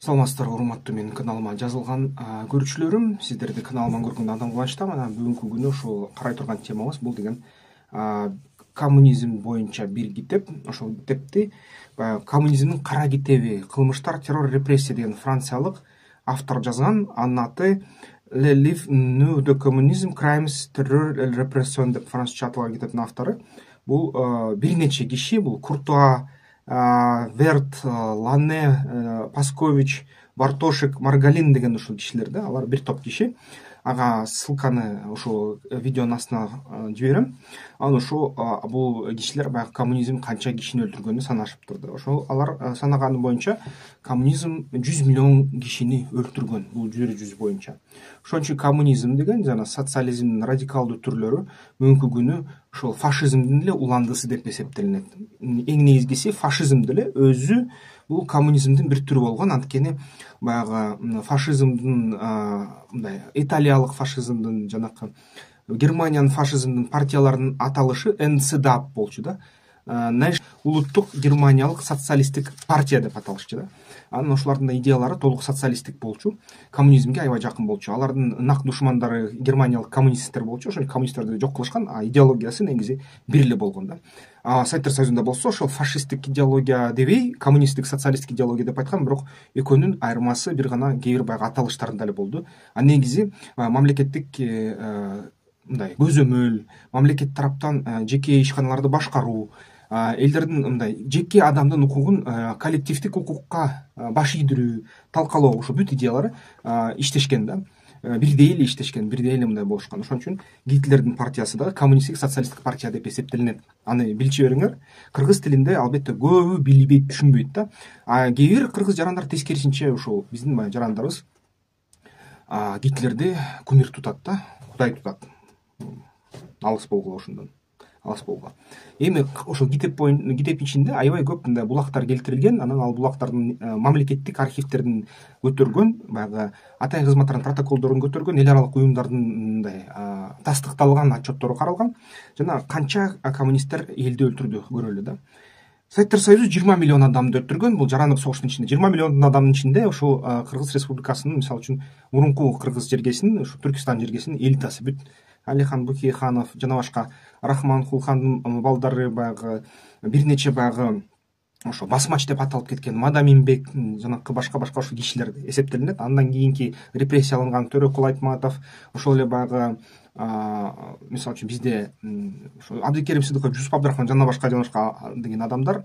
Саламатсыздарбы, урматтуу менин каналыма жазылган көрүүчүлөрүм. Сиздерди каналыман көргөндө андан кубанычтамын. Анан бүгүнкү күнү ушул карай турган темабыз бул деген коммунизм боюнча бир китеп. Ошол китепти коммунизмдин кара китеби, кылмыштар, террор, репрессия деген франциялык автор жазган. Анын аты Le Livre Nu de Communisme, Crimes, Terror et Repression деп французча аталган китептин автору. Бул бир нече киши, бул Куртуа, Верт, Лане, Паскович, Бартошек, Маргалин деген ушул кишилер да, алар бир топ киши. Ага ссылканы ушул видеонун астына жиберем. Анан ошо бул кишилер баягы коммунизм канча кишини өлтүргөнү санашыптыр да. Ошол алар санаганы боюнча коммунизм 100 миллион кишини өлтүргөн, бул жүз боюнча. Ошон үчүн коммунизм деген жана социализмдин радикалдуу түрлөрү бүгүнкү күнү ошол фашизмдин эле уландысы деп эсептелинет. Эң негизгиси фашизм деле өзү бул коммунизмдин бир түрү болгон. Анткени баягы фашизмдин мындай италиялык фашизмдин жанакы Германиянын фашизмдин партияларынын аталышы НСДАП болчу да. Улуттук германиялык социалисттик партия деп аталышчу да. Анан ошолордун идеялары толук социалисттик болчу, коммунизмге аябай жакын болчу. Алардын нак душмандары германиялык коммунисттер болчу. Ошол коммунисттерди жок кылышкан, идеологиясы негизи бир эле болгон да. Советтер Союзунда болсо ошол фашисттик идеология дебей, коммунисттик, социалисттик идеология деп айткан, бирок экөөнүн айырмасы бир гана кээ бир баягы аталыштарында эле болду. Негизи мамлекеттик мындай көзөмөл, мамлекет тараптан жеке ишканаларды башкаруу, элдердин мындай жеке адамдын укугун коллективдик укукка баш ийдирүү, талкалоо, ошо бүт идеялары иштешкен да. Бирдей эле иштешкен, бирдей эле мындай болушкан. Ошон үчүн Гитлердин партиясы дагы коммунисттик социалисттик партия деп эсептелинет. Аны билчи бериңер. Кыргыз тилинде албетте көбү билбейт, түшүнбөйт да. Кээ бир кыргыз жарандар тескерисинче ушул биздин жарандарыбыз Гитлерди кумир тутат да, кудай тутат. Алыс болгула ошондон. Алыс болгула. Эми ошол китептин ичинде аябай көп мындай булактар келтирилген. Анан ал булактардын мамлекеттик архивтердин көтөргөн, баягы атайын кызматтардын протоколдорун көтөргөн, эл аралык уюмдардын мындай тастыкталган отчеттору каралган. Жана канча коммунисттер элди өлтүрдү көрөлү да. Советтер Союзу 20 миллион адамды өлтүргөн. Бул жарандык согуштун ичинде 20 миллион адамдын ичинде ошол Кыргыз Республикасынын, мисалы үчүн, мурунку Кыргыз жергесинин, ошо Түркистан жергесинин элитасы бүт Алихан Бөкейханов жана башка Рахман Кулхандын балдары, баягы бир нече баягы ошо басмач деп аталып кеткен Мадаминбек жанакы башка ошо кишилер эсептелинет. Андан кийинки репрессияланган Төрөкул Айтматов, ошол эле баягы мисалы үчүн бизде ошо Абдыкерим Сыдыков, Жусуп Абдрахман жана башка деген адамдар,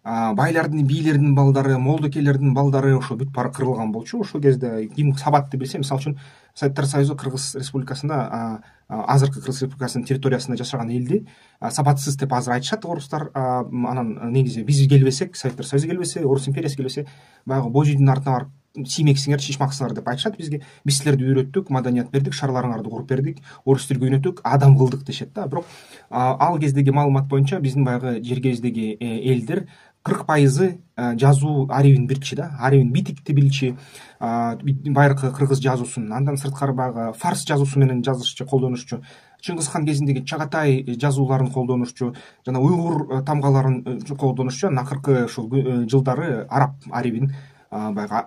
байлардын, бийлердин балдары, молдокелердин балдары ошо бүт баары кырылган болчу. Ошол кезде ким сабатты билсе, мисалы үчүн Советтер Союзу Кыргыз Республикасында, азыркы Кыргыз Республикасынын территориясында жашаган элди сабатсыз деп азыр айтышат орустар. Анан негизи биз келбесек, Советтер Союзу келбесе, Орус империясы келбесе, баягы божийдин артына барып сиймексиңер, шишмаксыңар деп айтышат бизге. Биз силерди үйрөттүк, маданият бердик, шаарларыңарды куруп бердик, орус тилге үйрөттүк, адам кылдык дешет да. Бирок ал кездеги маалымат боюнча биздин баягы жергебиздеги элдер 40% жазуу арибин билчү да. Арибин битикти билчү, байыркы кыргыз жазуусун. Андан сырткары баягы фарс жазуусу менен жазышчу, колдонушчу. Чыңгыз хан кезиндеги Чагатай жазууларын колдонушчу, жана уйгур тамгаларын колдонушчу. Акыркы ушул жылдары араб арибин баягы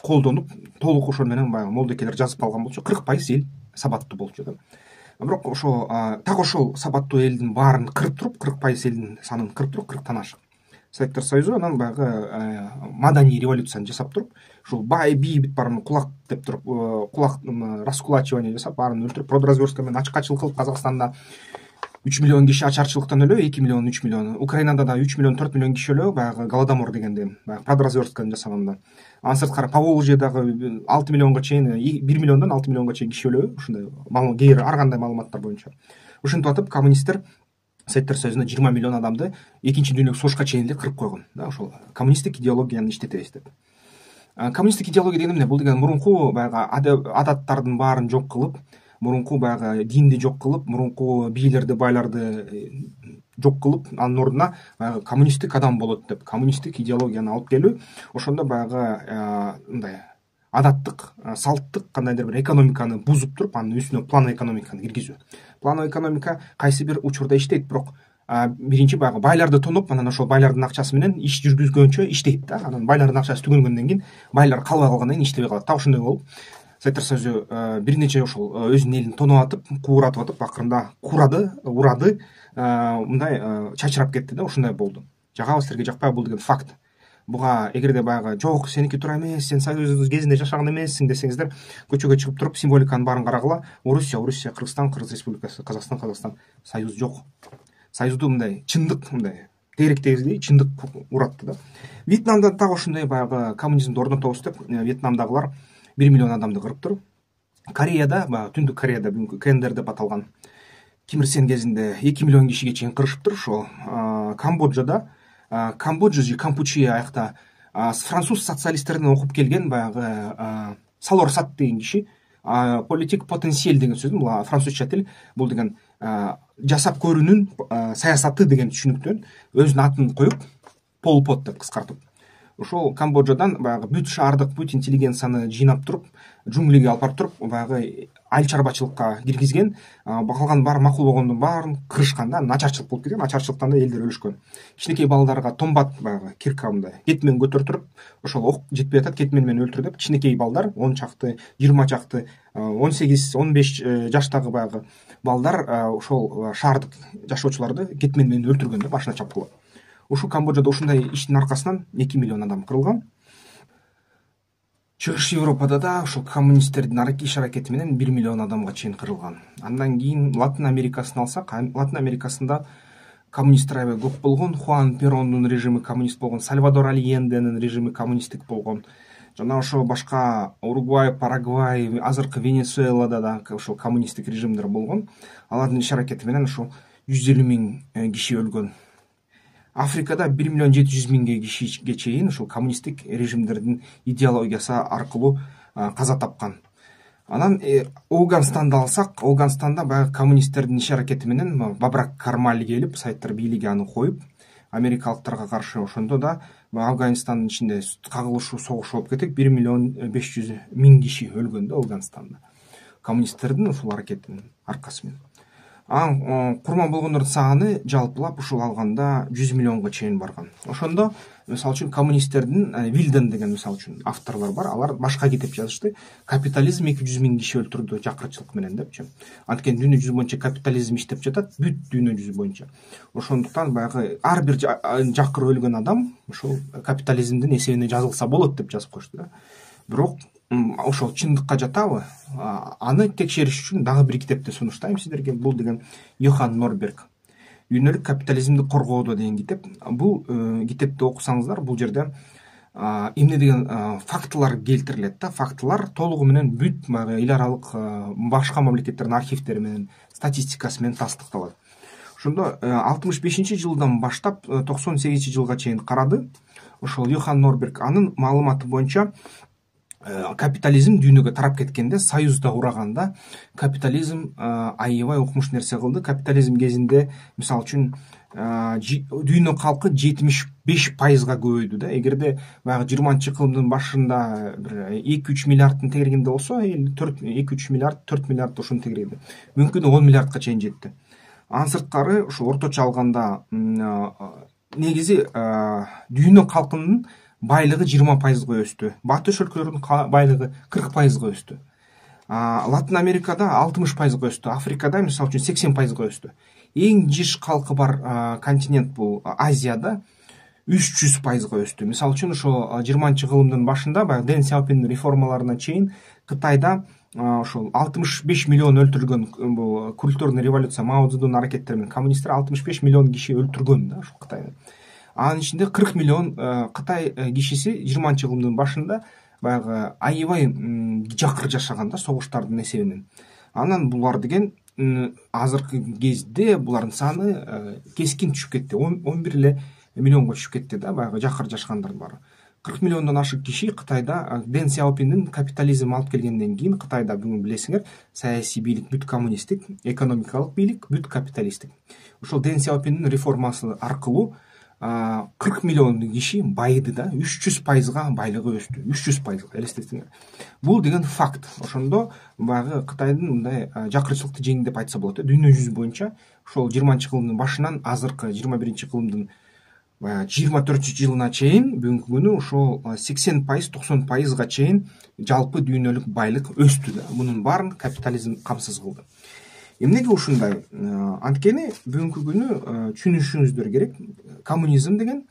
колдонуп, толук ошол менен баягы молдокелер жазып алган болчу. 40% эл сабаттуу болчу да. Бирок ошо так ошол сабаттуу элдин баарын кырып туруп, 40% элдин санын кырып туруп, 40тан ашык Советтер Союзу анан баягы маданий революцияны жасап туруп, ушул бай бий бүт баарын кулак деп туруп, кулак раскулачивание жасап, баарын өлтүрүп, продразверстка менен ачкачылык кылып, Казакстанда 3 миллион киши ачарчылыктан өлө, 2 миллион, 3 миллион. Украинада да 3 миллион, 4 миллион киши өлө, баягы Голодомор дегенде, баягы продразверстканы жасаганда. Анын сырткары Поволжьедагы 6 миллионго чейин, 1 миллиондон 6 миллионго чейин киши өлө, ушундай кээ бир ар кандай маалыматтар боюнча. Ушинтип атып коммунисттер Советтер Союзунда 20 миллион адамды экинчи дүйнөлүк согушка чейин эле кырып койгон да, ошол коммунисттик идеологияны иштетебиз деп. Коммунисттик идеология деген эмне? Бул деген мурунку баягы адаттардын баарын жок кылып, мурунку баягы динди жок кылып, мурунку бийлерди, байларды жок кылып, анын ордуна баягы коммунисттик адам болот деп, коммунисттик идеологияны алып келүү. Ошондо баягы мындай адаттык, салттык кандайдыр бир экономиканы бузуп туруп, анын үстүнө план экономиканы киргизүү. План экономика кайсы бир учурда иштейт, бирок биринчи баягы байларды тоноп, анан ошол байлардын акчасы менен иш жүргүзгөнчө иштейт да. Анан байлардын акчасы түгөнгөндөн кийин байлар калбай калгандан кийин иштебей калат. Так ошондой болуп Советтер Союзу бир нече ошол өзүнүн элин тоноп атып, кууратып атып, акырында урады, мындай чачырап кетти да. Ушундай болду. Жагабы, силерге жакпайбы бул деген факт. Буга эгерде баягы жок, сеники туура эмес, сен Союз кезинде жашаган эмессиң десеңиздер, көчөгө чыгып туруп символиканын баарын карагыла. Орусия, Кыргызстан, Кыргыз Республикасы, Казакстан, Союз жок. Союзду мындай чындык, мындай тегеректегиздей чындык уратты да. Вьетнамда так ошондой баягы коммунизмди орнотобуз деп, Вьетнамдагылар 1 миллион адамды кырыптыр. Кореяда, баягы Түндүк Кореяда, бүгүнкү КНДР деп аталган Ким Ир Сен кезинде 2 миллион кишиге чейин кырышыптыр. Ошо Камбоджада, Камбоджа же Кампучия аякта француз социалисттеринен окуп келген баягы Салор Сат деген киши, политик потенциал деген сөз, бул французча тил, бул деген жасап көрүүнүн саясаты деген түшүнүктөн өзүнүн атын коюп, Пол Пот деп кыскартып, ошол Камбоджадан баягы бүт шаардык, бүт интеллигенцияны жыйнап туруп, джунглиге алып барып туруп, баягы айыл чарбачылыкка киргизген, калган баары макул болгондун баарын кырышкан да. Начарчылык болуп кеткен, начарчылыктан да элдер өлүшкөн. Кичинекей балдарга томбат, баягы кирка мындай кетмен көтөртүрүп, ошол ок жетпей атат, кетмен менен өлтүр деп, кичинекей балдар 10 чакты, 20 чакты, 18-15 жаштагы баягы балдар ошол шаардык жашоочуларды кетмен менен өлтүргөн да, башына чапкылап. Ушул Камбоджада ушундай иштин аркасынан 2 миллион адам кырылган. Чыгыш Европада да ошол коммунисттердин иш аракети менен 1 миллион адамга чейин кырылган. Андан кийин Латын Америкасын алсак, Латын Америкасында коммунисттер аябай көп болгон. Хуан Перондун режими коммунист болгон, Сальвадор Альенденин режими коммунисттик болгон. Жана ошо башка Уругвай, Парагвай, азыркы Венесуэлада да ошол коммунисттик режимдер болгон. Алардын иш аракети менен ошо 150 000 киши өлгөн. Африкада 1 миллион 700 000 кишиге чейин ушул коммунисттик режимдердин идеологиясы аркылуу каза тапкан. Анан Афганистанды алсак, Афганистанда баягы коммунисттердин иш аракети менен Бабрак Кармаль келип, Советтер бийлиги аны коюп, америкалыктарга каршы ошондо да Афганистандын ичинде кагылышуу, согуш болуп кетип, 1 миллион 500 000 киши өлгөн да Афганистанда. Коммунисттердин ушул аракетинин аркасы менен. Курман болгондордун саны жалпылап ушул алганда 100 миллионго чейин барган. Ошондо мисалы үчүн коммунисттердин Вилден деген мисалы үчүн авторлор бар. Алар башка китеп жазышты. Капитализм 200 000 киши өлтүрдү жакырчылык менен депчи. Анткени дүйнө жүзү боюнча капитализм иштеп жатат, бүт дүйнө жүзү боюнча. Ошондуктан баягы ар бир жакыр өлгөн адам ушул капитализмдин эсебине жазылса болот деп жазып коюшту да. Бирок ошол чындыкка жатабы? Аны текшериш үчүн дагы бир китепти сунуштайм сиздерге. Бул деген Йохан Норберг «Дүйнөлүк капитализмди коргоодо» деген китеп. Бул китепти окусаңыздар, бул жерде эмне деген фактылар келтирилет да. Фактылар толугу менен бүт эл аралык башка мамлекеттердин архивдери менен, статистикасы менен тастыкталат. Ошондо 65-жылдан баштап 98-жылга чейин карады. Ошол Йохан Норберг анын маалыматы боюнча капитализм дүйнөгө тарап кеткенде, Союзда ураганда капитализм аябай укмуш нерсе кылды. Капитализм кезинде мисалы үчүн дүйнө калкы 75%га көбөйдү да. Эгерде баягы 20-кылымдын башында бир 2-3 миллиардтын тегерегинде болсо, 2-3 миллиард, 4 миллиард ошонун тегерегинде, мүмкүн 10 миллиардка чейин жетти. Анын сырткары ушу орточо алганда негизи дүйнө калкынын байлыгы 20%га өстү. Батыш өлкөлөрүнүн байлыгы 40%га өстү. Латын Америкада 60%га өстү. Африкада мисалы үчүн 80%га өстү. Эң жиш калкы бар континент бул Азияда 300%га өстү. Мисалы үчүн ошо 20-кылымдын башында баягы Дэн Сяопиндин реформаларына чейин Кытайда ошол 65 миллион өлтүрүлгөн, бул культурный революция, Мао Цзэдун аракеттери менен коммунисттер 65 миллион киши өлтүргөн да ошол Кытайда. Анын ичинде 40 миллион Кытай кишиси 20-кылымдын башында баягы аябай жакыр жашаган да согуштардын эсебинен. Анан булар деген азыркы кезде булардын саны кескин түшүп кетти. 11 миллионго түшүп кетти да баягы жакыр жашагандардын баары. 40 миллиондон ашык киши Кытайда Дэн Сяопиндин капитализм алып келгенден кийин Кытайда бүгүн билесиңер, саясий бийлик бүт коммунисттик, экономикалык бийлик бүт капиталисттик. Ошол Дэн Сяопиндин реформасы аркылуу 40 миллион киши байды да, 300%-га байлыгы өстү. 300%-га элестетиңер. Бул деген факт. Ошондо баягы Кытайдын мындай жакырчылыкты жеңди деп айтса болот. Дүйнө жүзү боюнча ошол 20-кылымдын башынан азыркы 21-кылымдын 24-жылына чейин бүгүнкү күнү ошол 80%, 90%га чейин жалпы дүйнөлүк байлык өстү да. Мунун баарын капитализм камсыз кылды. Эмнеге ушундай? Анткени бүгүнкү күнү түшүнүшүңүздөр керек. Коммунизм деген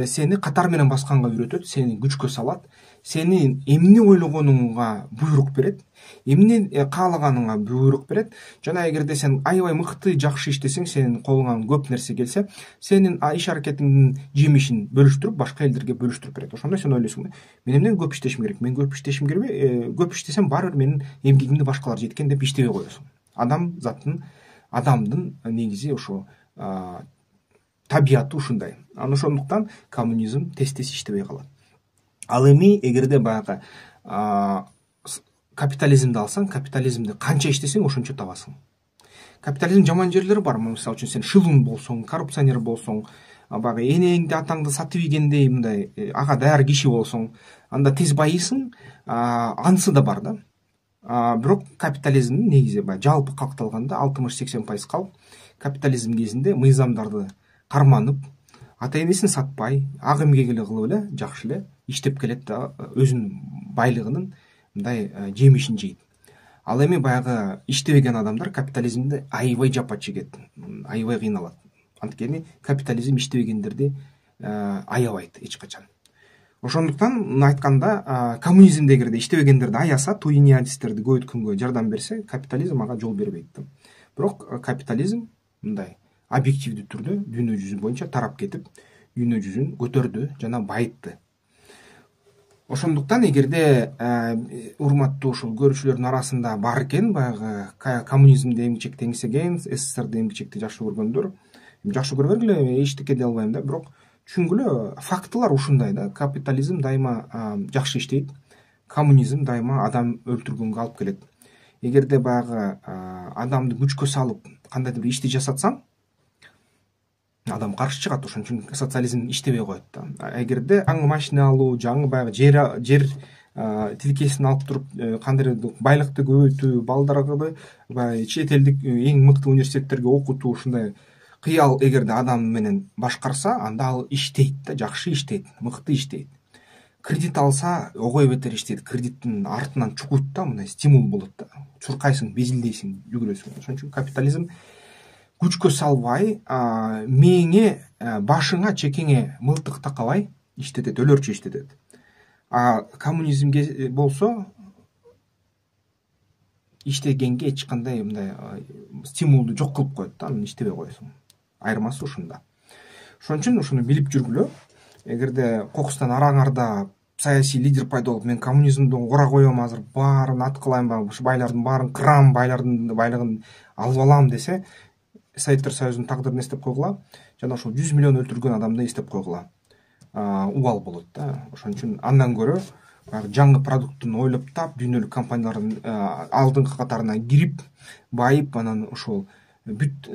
сени катар менен басканга үйрөтөт, сени күчкө салат, сени эмне ойлогонуңга буйрук берет, эмне каалаганыңа буйрук берет. Жана эгерде сен аябай мыкты жакшы иштесең, сенин колуңан көп нерсе келсе, сенин иш аракетиңдин жемишин бөлүштүрүп, башка элдерге бөлүштүрүп берет. Ошондо сен ойлойсуң, мен эмнеге көп иштешим керек? Мен көп иштешим керек, көп иштесем баары бир менин эмгегимди башкалар жеткен деп иштебей коесуң. Адамдын негизи ошо табияты ушундай. Ошондуктан коммунизм тез иштебей калат. Ал эми эгерде баягы капитализмди алсаң, капитализмди канча иштесең ошончо табасың. Капитализм жаман жерлери бар. Мисалы үчүн сен шылуун болсоң, коррупционер болсоң, баягы энеңди атаңды сатып ийгендей мындай ага даяр киши болсоң, анда тез байыйсың. Анысы да бар да. Бирок капитализмдин негизи баягы жалпы калкталганда 60-80% калк капитализм кезинде мыйзамдарды карманып, ата энесин сатпай, ак эмгек эле кылып эле жакшы эле иштеп келет да, өзүнүн байлыгынын мындай жемишин жейт. Ал эми баягы иштебеген адамдар капитализмде аябай жапа чегет, аябай кыйналат. Анткени капитализм иштебегендерди аябайт эч качан. Ошондуктан айтканда, коммунизмде эгерде иштебегендерди аяса, туйниадистерди көбөйткөнгө жардам берсе, капитализм ага жол бербейт. Бирок капитализм мындай объективдүү түрдө дүйнө жүзү боюнча тарап кетип, дүйнө жүзүн көтөрдү жана байытты. Ошондуктан эгерде урматтуу ушул көрүүчүлөрдүн арасында бар экен баягы коммунизмди эмгичекти эңсеген, СССРди эмгичекти жакшы көргөндөр, жакшы көрө бергиле, эчтеке дей албайм да, бирок түшүнгүлө, фактылар ушундай да. Капитализм дайыма жакшы иштейт, коммунизм дайыма адам өлтүргөнгө алып келет. Эгерде баягы адамды күчкө салып кандайдыр бир ишти жасатсаң, адам каршы чыгат. Ошон үчүн социализм иштебей коет да. Эгерде жаңы машина алуу, жаңы баягы жер тилкесин алып туруп, кандайдыр байлыкты көбөйтүү, балдарга баягы чет элдик эң мыкты университеттерге окутуу, ушундай кыял эгерде адам менен башкарса, анда ал иштейт да, жакшы иштейт, мыкты иштейт. Кредит алса, огой бетер иштейт, кредиттин артынан чукуйт да, мындай стимул болот да. Чуркайсың, безилдейсиң, жүгүрөсүң. Ошон үчүн капитализм күчкө салбай, мээңе, башыңа, чекеңе мылтык такабай иштетет, өлөрчө иштетет. Коммунизмге болсо иштегенге эч кандай мындай стимулду жок кылып коет да, анан иштебей коесуң. Айырмасы ушунда. Ошон үчүн ушуну билип жүргүлө. Эгерде кокустан араңарда саясий лидер пайда болуп, мен коммунизмди ора коем, азыр баарын аткылайм, байлардын баарын кырам, байлардын байлыгын алып алам десе, Советтер Союзунун тагдырын эстеп койгула, жана ошол 100 миллион өлтүргөн адамды эстеп койгула. Убал болот да. Ошон үчүн андан көрө жаңы продуктун ойлоп тап, дүйнөлүк компаниялардын алдыңкы катарына кирип, байып, анан ошол бүт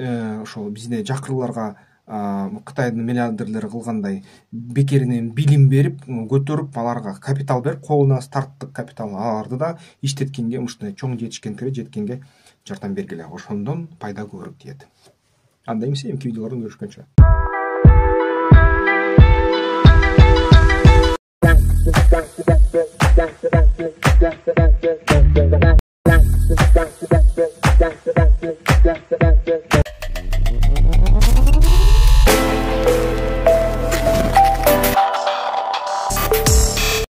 ошол бизде жакырларга Кытайдын миллиардерлери кылгандай бекеринен билим берип, көтөрүп, аларга капитал берип, колуна старттык капитал, аларды да иштеткенге, ушундай чоң жеткенге жардам бергиле. Ошондон пайда көбүрөөк тиет. Анда эмесе эмки видеолордон көрүшкөнчө.